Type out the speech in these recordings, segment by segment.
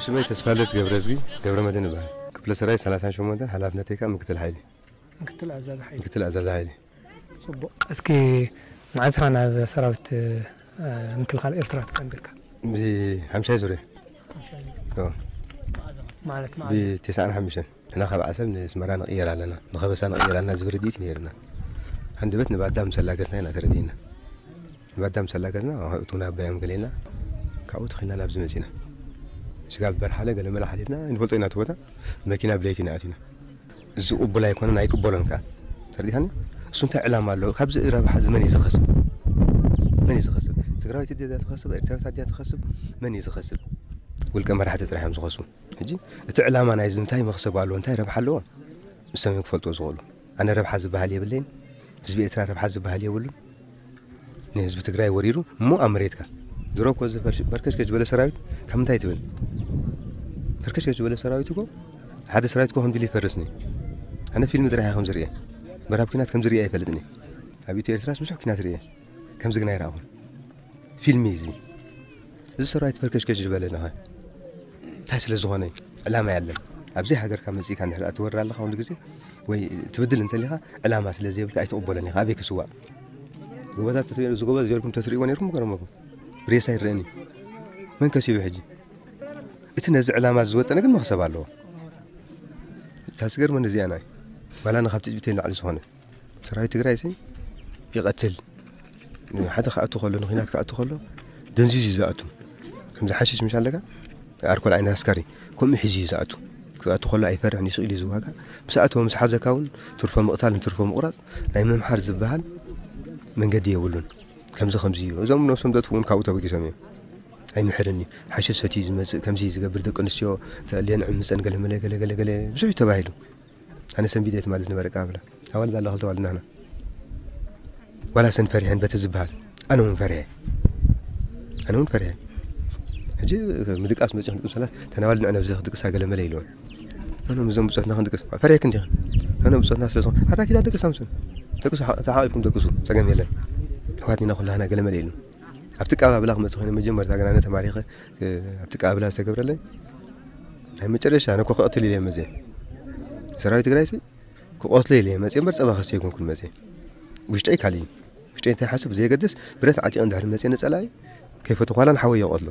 ስመይ ተስፋለት ገብረዝጊ ገብረ መድህን ይበሃል። ክፍለ ሰራዊት ሰላሳን ሸሞንተን፣ ሓላፍነተይ ከዓ ምክትል ሓይሊ። ምክትል ኣዛዚ ሓይሊ። ምክትል ኣዛዚ ሓይሊ። ጽቡቕ። እስኪ መዓዝ ኢኻ ናብ ሰራዊት፣ እ፣ ምክልኻል ኤርትራ ተጸንቢርካ? ብሓምሻይ ዙርያ። ሓምሻይ ዙርያ። ኦ። ማለት መዓዝ? ብተስዓን ሓሙሽተን። ንሕና ካብ ዓሰብ ንስመራ ንቕየር ኣለና። ንኸበሳ ንቕየር ኣለና ዝብል ርድኢት ነይርና። ሃንደበት ንባዳ ምስ ኣላገስና ኢና ተረዲእና። ንባዳ ምስ ኣላገስና፣ እቱ ናብ ባዮም ገሌና፣ ካብኡ ተኺልና ናብዚ መጺና። ስጋብ በርሓለ ገለመለ ሓሊፍና፣ ንፈልጦ ኢና እቲ ቦታ። መኪና ብለይቲ ኢና ኣቲና። እዚ ቅቡል ኣይኮነን፣ ኣይቅበሎን ከኣ። ተረዲኻኒ? እሱ እንታይ ዕላማ ኣለዎ? ካብዚ ረብሓ እዚ መን እዩ ዝኸስብ? መን እዩ ዝኸስብ? ትግራዊት ድያ ትኸስብ? ኤርትራዊት ድያ ትኸስብ? መን እዩ ዝኸስብ? ውልቀ መራሕቲ ጥራሕ እዮም ዝኸስቡ። ሕጂ እቲ ዕላማ ናይዚ እንታይ መኽሰብ ኣለዎ? እንታይ ረብሓ ኣለዎ? ንሶም እዮም ክፈልጥዎ ዝኽእሉ። ኣነ ረብሓ ዝበሃል የብለይን። ህዝቢ ኤርትራ ረብሓ ዝበሃል የብሉን። ንህዝቢ ትግራይ ወሪሩ እሞ ኣብ መሬትካ። ድሮ እኮ እዚ ፈርሽ-፣ ፈርከሽከሽ ዝበለ ሰራዊት ካብ ምንታይ ትብል? ፈርከሽከሽ ዝበለ ሰራዊት እኮ፣ ሓደ ሰራዊት እኮ ከምዚ ኢሉ ይፈርስኒ። ኣነ ፊልም ጥራሕ እየ ከምዚ ርእየ። ምዕራብ ኲናት ከምዚ ርእየ ኣይፈልጥኒ። ኣብ ኢትዮ ኤርትራስ ብዙሕ ኲናት ርእየ። ከምዚ ግን ኣይረኣኹን። ፊልም እዩ እዚ። እዚ ሰራዊት ፈርከሽከሽ ዝበለ ነኸ እንታይ ስለ ዝኾነ? ዕላማ ያለን። ኣብዚ ሃገርካ መጺእካ እንድሕር ትወርር ኣለኻ ኩሉ ግዜ ወይ ትብድል እንተሊኻ ዕላማ ስለ ዘይብልካ ኣይትቕበሎን ኢኻ። ኣበይ ክስዋእ? ጎበዛት ተትሪኦ፣ እዚ ጎበዝ ጀርኩም ተትሪእዎ ነይርኩም ምገረመኩም። ሬሳ ይረአኒ። መን ከሲቡ ሕጂ? እቲ ነዚ ዕላማ ዝወጠነ ግን መኽሰብ ኣለዎ። እታ ዝገርመኒ እዚኣ ናይ ባላ ንኻብ ትጽቢተይ ንላዕሊ ዝኾነ ሰራዊት ትግራይ ሲ ይቐትል። ሓደ ክኣቱ ከሎ፣ ንኺናት ክኣቱ ከሎ ደንዚዙ እዩ ዝኣቱ። ከምዚ ሓሽሽ ምሽ ኣለካ፣ ኣርኮል ዓይነት ኣስካሪ ከምኡ ሒዙ እዩ ዝኣቱ። ክኣቱ ከሎ ኣይፈርሕን፣ ይስቕ ኢሉ እዩ ዝዋጋእ። ምስ ኣተወ፣ ምስ ሓዘካ እውን ትርፎ ምቕታል ንትርፎ ምቑራፅ ናይ ምምሓር ዝበሃል መንገዲ የብሉን። ከምዚ ከምዚ እዩ። እዞም ነብሶም ዘጥፍኡ እውን ካብኡ ተበጊሶም እዮም። ኣይምሕርን እዩ። ሓሽሽ ሰትዩ ዝመፅእ፣ ከምዚ ዝገብር፣ ደቂ ኣንስትዮ ተኣልየን ዕምፀን ገለመለ ገለ ገለ ገለ ብዙሕ እዩ ተባሂሉ። ኣነ ሰንቢደ ትማሊ ዝነበረ ኣቀባብላ። ኣዋልድ ኣለዋ ክልተ ኣዋልድ ናህና። ዋላ ሰን ፈሪሐን በቲ ዝበሃል። ኣነ እውን ፈሪሐ። ኣነ እውን ፈሪሐ። ሕጂ ምድቃስ መጺኹም ድቅሱ ኣላ፣ ተን ኣዋልድ ንዕነ ብዘይ ክድቅሳ ገለ መለ ኢልወን። ኣነ ምስዞም ብጾትና ክንድቅስ፣ ፈሪሐክን ዲኽን? ኣነ ብጾትና ስለ ዝኾነ፣ ኣራኪዳ ደቅሳ ምስን። ደቅሱ፣ ተሓቂፍኩም ደቅሱ፣ ጸገም የለን። ኣሕዋት ኢና ኩላህና ገለ መለ ኢሉ። ኣብቲ ኣቀባብላ ክመጽእ ኮይነ መጀመርታ ግን ኣነ ተማሪኸ፣ እ፣ ኣብቲ ኣቀባብላ ዝተገብረለይ ናይ መጨረሻ ኣነ እኮ ክቐትል ኢለ እየ መፅየ። ሰራዊት ትግራይ ሲ ክቐትሎ ኢለ እየ መፅየ እምበር ፀባ ከስተ ኣይኮንኩን መፅየ። ውሽጠይ ካሊእ እዩ። ውሽጠይ እንታይ ሓስብ ብዘየገድስ ብረት ዓጢቐ እንድሕር መፅየ ንፀላኢ ከይፈተኹ ዋላ ንሓወይ እየ ክቐትሎ።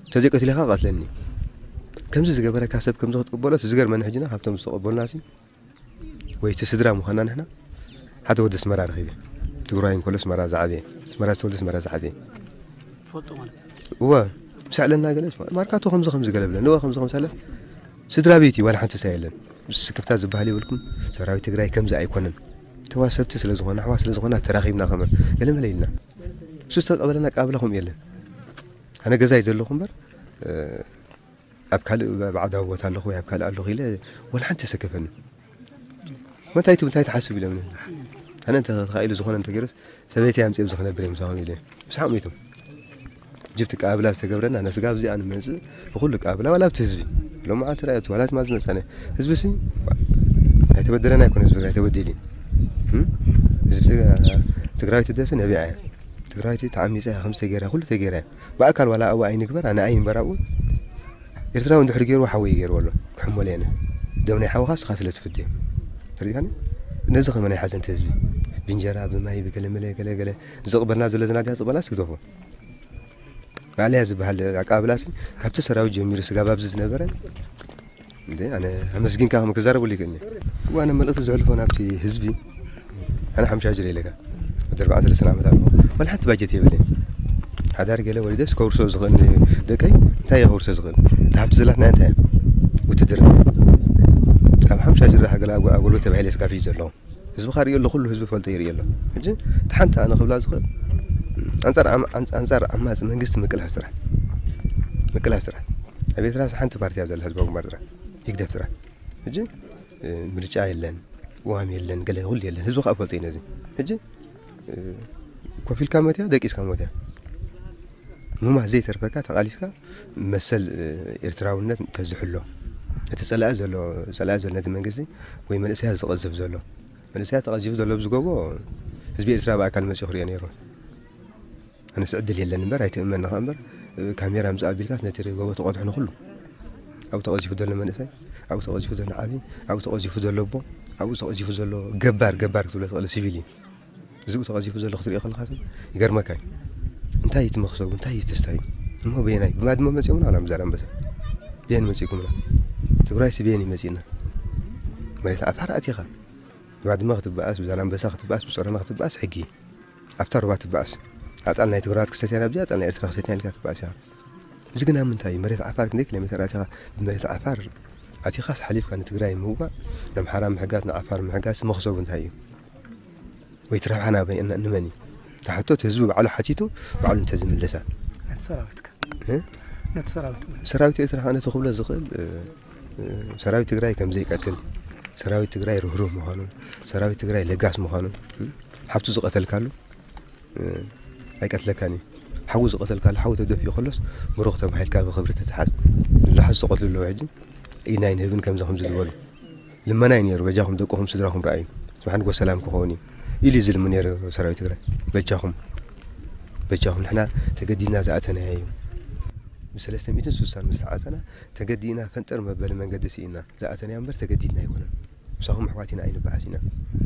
እንተዘይቀቲለ ከዓ ቀትለኒ። ከምዚ ዝገበረካ ሰብ ከምዚ ክትቅበሎ እቲ ዝገርመኒ ሕጂና ካብቶም ዝተቐበሉና ሲ ወይ እቲ ስድራ ምዃንና ንሕና ሓደ ወዲ ኣስመራ ረኺበ። ትግራይ እንከሎ ኣስመራ ዝዓበየ፣ ኣስመራ ዝተወልደ ኣስመራ ዝዓበየ። ትፈልጦ ማለት እዩ። እወ፣ ምስ ኣዕለልና ገለ፣ ማርካቶ ከምዚ ከምዚ ገለ ብለን። እወ፣ ከምዚ ከምዚ ኣለ። ስድራ ቤት እዩ፣ ዋላ ሓንቲ ምሳይ የለን። ምስ ስክፍታ ዝበሃል የብልኩም። ሰራዊት ትግራይ ከምዚ ኣይኮነን። ተዋሰብቲ ስለ ዝኾነ፣ ኣሕዋት ስለ ዝኾነ፣ ተራኺብና ከመ ገለ መለ ኢልና። እሱ ዝተቐበለና ኣቀባብላ ከምኡ የለን። ኣነ ገዛ እዩ ዘለኹ እምበር፣ እ፣ ኣብ ካልእ ብ-፣ ባዕዳዊ ቦታ ኣለኹ ወይ ኣብ ካልእ ኣለኹ ኢለ ወላ ሓንቲ የሰከፈኒ። መታይ ትብል፣ እንታይ ትሓስብ ኢሎምኒ። ኣነ እንተ ተኻኢሉ ዝኾነ እንተገይሩስ ሰበይቲ ኣምፅእ ኣብዚ ክነብር እየ ምሳኹም ኢለ። ምሳኹም ኢቶም። ጅብቲ ቀባብላ ዝተገብረና፣ ነስጋ ኣብዚኣ ንመፅእ፣ ብኹሉ ቀባብላ፣ ዋላ ኣብቲ ህዝቢ። ሎም መዓልቲ ርኣየቱ፣ ዋላ ትማል ዝመፃነ። ህዝቢ ሲ፣ ኣይተበደለን ኣይኮነ ህዝቢ ትግራይ ተበዲሉ እዩ። እም? ህዝቢ ትግ-፣ ትግራዊት ደስ ነቢዓ እያ። ትግራዊት ተዓሚፃ እያ፣ ከምዚ ተገይራ፣ ኩሉ ተገይራ እያ። ብኣካል ዋላ ኣብኡ ኣይንግበር፣ ኣነ ኣይንበር ኣብኡ። ኤርትራዊ እንድሕር ገይርዎ ሓወይ ገይርዎ ኣሎ። ክሕመሎ እየ ኣነ። ደም ናይ ሓውኻ ስኻ ስለ ትፍዲ። ተረዲእካኒ? ነዚ ከመ ናይ ሓዘንቲ ህዝቢ። ብእንጀራ፣ ብማይ፣ ብገለመለ፣ ገለ፣ ገለ። ዝቕበልና ዘሎ ዝናድያ ዝቕበላ እስኪ ግደፎ። ማእለያ ዝበሃል ኣቀባብላሲ ካብቲ ሰራዊት ጀሚሩ ስጋብ ኣብዚ ዝነበረ። እንዴ፣ ኣነ ኣመስጊንካ ከም ክዛረበሉ ይክእልኒ። እዋ፣ ኣነ መልእኽቲ ዘሕልፎ ናብቲ ህዝቢ። ኣነ ሓምሻ ጅረ ኢለካ። ወዲ ኣርባዓን ሰለስተን ዓመት ኣለኹ። ዋላ ሓንቲ ባጀት የብለይ። ሓዳር ገለ ወሊደስ ከውርሶ ዝኽእል ደቀይ እንታይ እየ ከውርሶ ዝኽእል? እታ ሃብቲ ዘላትና እንታይ እያ? ውትድርና። ካብ ሓምሻ ጅራ ሃገር ኣጎ-፣ ኣጎልበት ተባሂለ ስጋፊ ዘለኹ። ህዝቢ ካርእዮ ኣሎ፣ ኩሉ ህዝቢ ፈልጦ ይርእዮ ኣሎ። ሕጂ እቲ ሓንቲ ኣነ ክብላ ዝኽእል፣ ኣንጻር ዓም-፣ ኣንጻ-፣ ኣንጻር ዓማጺ መንግስቲ ምቅላስ ጥራሕ። ምቅላስ ጥራሕ። ኣብ ኤርትራ ሓንቲ ፓርቲ እያ ዘላ፣ ህዝባዊ ግንባር ጥራሕ። ይግደፍ ጥራሕ። ሕጂ፣ እ፣ ምርጫ የለን፣ ቅዋም የለን፣ ገለ ኩሉ የለን። ህዝቢ ከኣ ፈልጦ እዩ ነዚ። ሕጂ፣ እ፣ ኮፍ ኢልካ ሞት እያ፣ ደቂስካ ሞት እያ። ምማት ዘይተርፈካ ተቓሊስካ መሰል፣ እ፣ ኤርትራውነት ተዝሕሎ። እቲ ጸላኢ ዘሎ፣ ጸላኢ ዘሎ ነቲ መንግስቲ ወይ መንእሰያት ዝቐዝፍ ዘሎ። መንእሰያት ተቐዚፉ ዘሎ ኣብዚ ጎቦ ህዝቢ ኤርትራ ብኣካል መጺኡ ክርእዮ ነይሩ። ኣነስ ዕድል የለን እምበር ኣይትእመን ኢኻ እምበር፣ እ፣ ካሜራ ምስ ኣቢልካስ ነቲ ጎቦ ትቐድሖ ንኹሉ። ኣብኡ ተቐዚፉ ዘሎ መንእሰይ፣ ኣብኡ ተቐዚፉ ዘሎ ዓቢ፣ ኣብኡ ተቐዚፉ ዘሎ ኣቦ፣ ኣብኡ ተቐዚፉ ዘሎ ገባር፣ ገባር ክትብሎ ትኽእል ሲቪል እዩ። እዚኡ ተቐዚፉ ዘሎ ክትሪኦ ከለኻስ ይገርመካ እዩ። እንታይ እዩ እቲ መኽሰቡ? እንታይ እዩ እቲ ስታዩ? እሞ በየናይ? ብባድመ መጺኦምና ዋላ ብዛላምበሳ? በየን መጺእኩምና? ትግራይስ በየን እዩ መጺእና? መሬት ዓፋር ኣቲኻ። ብባድመ ክትበኣስ፣ ብዛላምበሳ ክትበኣስ፣ ብጾረና ክትበኣስ ሕጊ እዩ። ኣብታ ሩባ ትበኣስ። ኣጣል ናይ ትግራዋት ክሰትያ ናብዚኣ፣ ኣጣል ናይ ኤርትራ ክሰትያ ኢልካ ትበኣስ እያ። እዚ ግና ምንታይ እዩ? መሬት ዓፋር ክንደይ ኪሎ ሜተር ኣቲኻ ብመሬት ዓፋር ኣቲኻስ ሓሊፍካ ንትግራይ ምውጋእ፣ ንኣምሓራ ምሕጋዝ፣ ንዓፋር ምሕጋዝ መኽሰቡ እንታይ እዩ? ወይ እቲ ረብሓ ናበይ፣ ን-፣ ንመን እዩ? እታ ሕቶ እቲ ህዝቢ ባዕሉ ሓቲቱ፣ ባዕሉ እንተዝምልሳ። ነቲ ሰራዊትካ። እ? ነቲ ሰራዊት እውን። ሰራዊት ኤርትራ ከኣ ነቲ ክብሎ ዝኽእል፣ እ፣ እ፣ ሰራዊት ትግራይ ከም ዘይቀትል፣ ሰራዊት ትግራይ ርህሩህ ምዃኑን፣ ሰራዊት ትግራይ ለጋስ ምዃኑን፣ እ፣ ሓብቱ ዝቐተልካሉ፣ እ፣ ኣይቀትለካን እዩ። ሓዉ ዝቐተልካሉ፣ ሓዉ ተደፊኡ ከሎስ፣ ብሩኽ ተባሂልካ ብኽብሪ ትትሓዝ። ብዙሓት ዝተቐትሉ ኣለዉ ሕጂ፣ ኢድና ኣይንህብን ከምዚ ከምዚ ዝበሉ። ልመና እዩ ነይሩ፣ በጃኹም ደቅኹም ስድራኹም ረኣዩ፣ ስብሓን ጎ ሰላም ክኸውን እዩ ኢሉ እዩ ዝልምን ነይሩ ሰራዊት ትግራይ። በጃኹም፣ በጃኹም፣ ንሕና ተገዲድና ዝኣተናዮ እዩ። ብሰለስተ ሚእትን ስሳን ምስ ተዓጸና፣ ተገዲድና ፈንጠር መበሊ መንገዲ ስኢና ዝኣተናዮ እምበር ተገዲድና ኣይኮነን። ምሳኹም ኣሕዋት ኢና ኣይንበኣስ ኢና።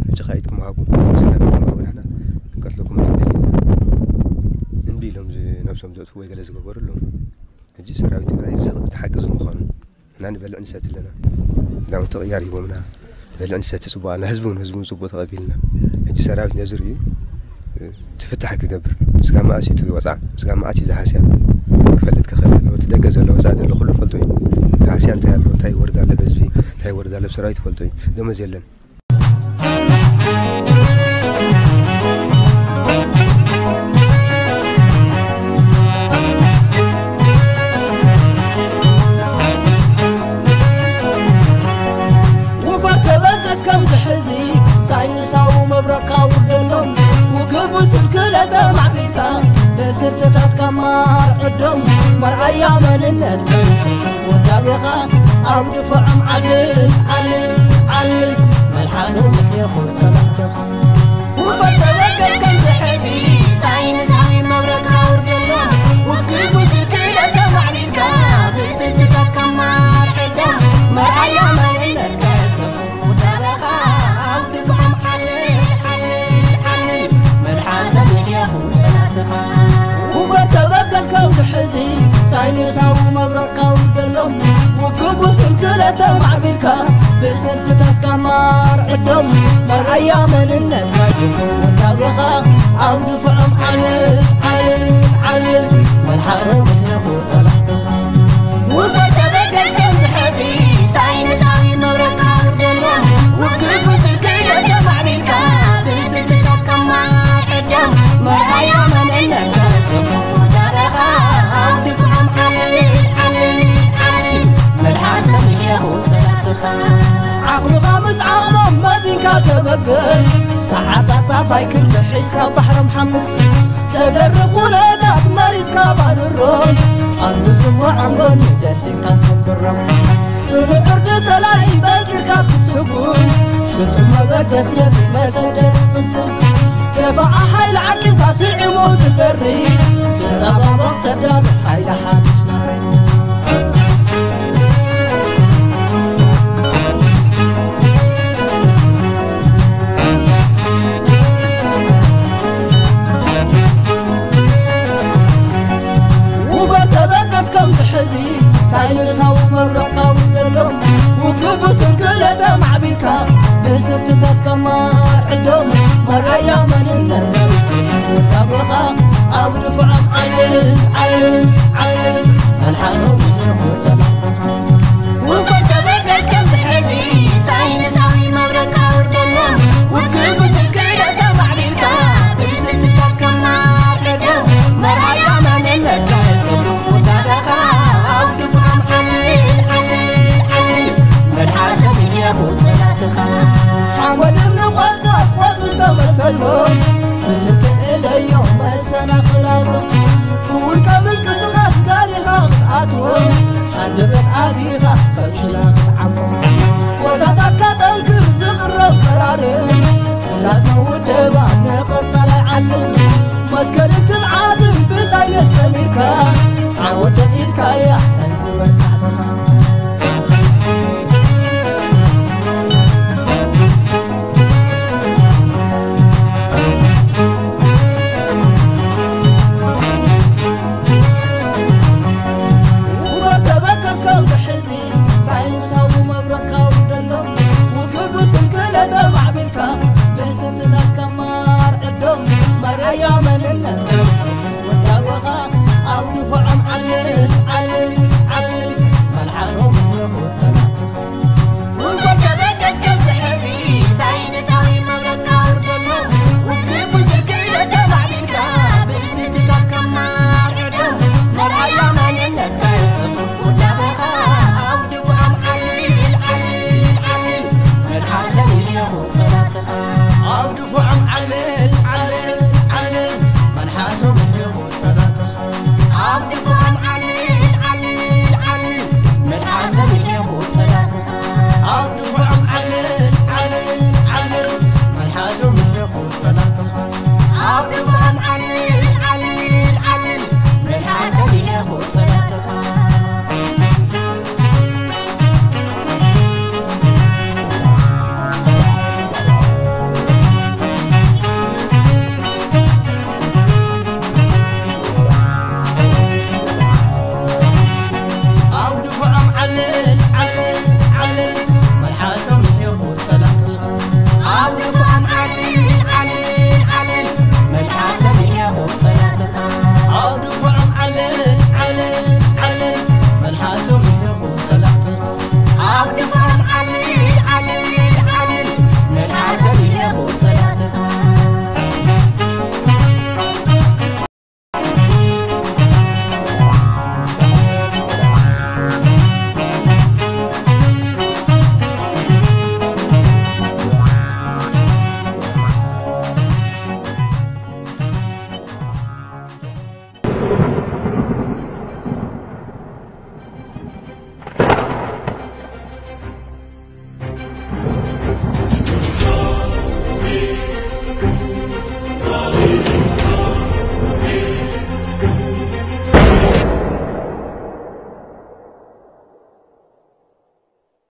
ሕጂ ኸኣ ኢድኩም ሃቡ፣ ሰላም ኢድኩም ሃቡ፣ ንሕና ክንቀትለኩም ኣይንደልን ኢና። እምቢ ኢሎም ዝ-፣ ነብሶም ዘጥፍኡ ወይ ገለ ዝገበሩ ኣለዉ። ሕጂ ሰራዊት ትግራይ እዚ፣ እዚ ሓቂ እዚ ምዃኑ ንሕና ንበልዕ ንሰቲ ኣለና። ክዳውንቲ ቅያር ሂቦምና፣ በልዕ ንሰቲ ጽቡቕ ኣለና። ህዝቢ እውን፣ ህዝቢ እውን ጽቡቕ ተቐቢልና። ሕጂ ሰራዊት ነዚ ርእዩ፣ እ፣ ትፍታሕ ክገብር። ስጋ መኣስ እዩ እቲ ወጻዕ፣ ስጋ መኣስ እዩ ዝሃስያ ክፈልጥ ክኽእል ኣለዎ። እቲ ደገ ዘሎ፣ ወጻኢ ዘሎ ኩሉ ፈልጦ እዩ። ዝሃስያ እንታይ ኣሎ፣ እንታይ ወርዳ ኣሎ፣ በዝቢ እንታይ ወርዳ ኣሎ፣ ሰራዊት ፈልጦ እዩ። ደሞዝ የለን። ውፈር ተበገስ ከምዚ ሕዚ ሳይንሳዊ መብረቕካ ውርደሎም። ውግቡ ስልክለ ተማዕቢልካ ብስርትታትካ ማር ዕዶም። መርኣያ መንነት ውዳቤኻ ኣብ ድፍዖም ዓልል ዓልል ዓልል። መልሓስም ይኹን ሰላምታኻ ውፈር ተበገስ ከምዚ ሕዚ ሳይንሳዊ መብረቕካ ውርደሎም። ውግቡ ስልክለ ተማዕቢልካ ብስርትታትካ ማር ዕዶም። መርኣያ መንነትካ ውፈር ተበገስ ከምዚ ሕዚ ሳይንሳዊ መብረቕካ ውርደሎም። ውግቡ ስልክለ ተማዕቢልካ ብስርትታትካ ማር ዕዶም። መርኣያ መንነትካ ይኹን ውዳቤኻ ኣብ ድፍዖም ዓልል ዓልል ዓልል። መልሓስም ይኹን ሰላምታኻ ውፈር ተበገስ ከምዚ ሕዚ ሳይንሳዊ መብረቕካ ውርደሎም። ውግቡ ስልክለ ተማዕቢልካ ብስርትታትካ ማር ዕዶም። መርኣያ መንነትካ ውዳቤኻ ኣብ ድፍዖም ዓልል ዓልል ዓልል። መልሓስም ይኹን ሰላምታኻ ዓቕልኻ ምስ ዓቕሞም መዚንካ ተበገስ። ተዓጻጻፋይ ክንዲ ሒዝካ ባሕሮም ሓምስ። ተደርብ ኩነታት መሪጽካ ባርሮም። ኣብ ዝስምዖም ጎኒ ደሲካ ሰብሮም። ጽኑዕ ዕርዲ ጸላኢ በርቲርካ ትስጉም። ስብስብ መበገስ ነቲ መሰደድ ቅንጽል። ደፋዓ ሓይሊ ዓቂብካ ስዒሙ ትዘሪ። ተጸባበቕ ተዳሎ ሓይሊ ሓድሽ ናሪ። ውፈር ተበገስ ከምዚ ሕዚ ሳይንሳዊ መብረቕካ ውርደሎም። ውግቡ ስንክለ ተማዕቢልካ ብስርትታት ከማር ዕዶም። መርኣያ መንነት ውዳቤኻ ኣብ ድፍዖም ሓወድም ንቆልታ ቆልታ መሰልዎ ብዝትእለዮ መሰናኽላቶም ውልቀ ምንቅስቓስ ጋሪኻ ክትኣትዎም፣ ሃንደበት ኣቲኻ ፈንሽላ ክትዓብጦም፣ ቦታታትካ ጠንክር ዝቕረብ ቀራርብ፣ ላታ ውደባ ንቐጻላይ ዓለም፣ መትከልን ትብዓትን ብሳይንስ ተሚርካ፣ ዓወት ተኺልካያ ሓንቲ መሳዕትኻ።